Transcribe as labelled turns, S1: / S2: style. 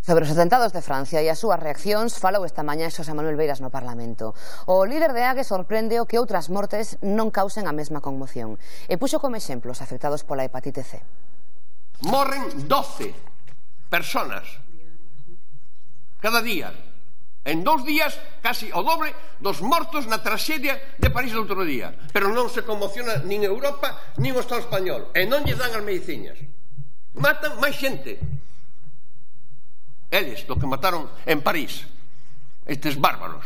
S1: Sobre os atentados de Francia e as súas reaccións falou esta mañá Xosé Manuel Beiras no Parlamento. O líder de AGE sorprende o que outras mortes non causen a mesma conmoción e puxo como exemplo os afectados pola hepatite C.
S2: Morren 12 personas cada día. En 2 días, casi o doble dos mortos na traxedia de París do outro día. Pero non se conmociona nin Europa, nin o Estado español. E non lles dan as mediciñas. Matan máis xente. Eles, do que mataron en París, estes bárbaros.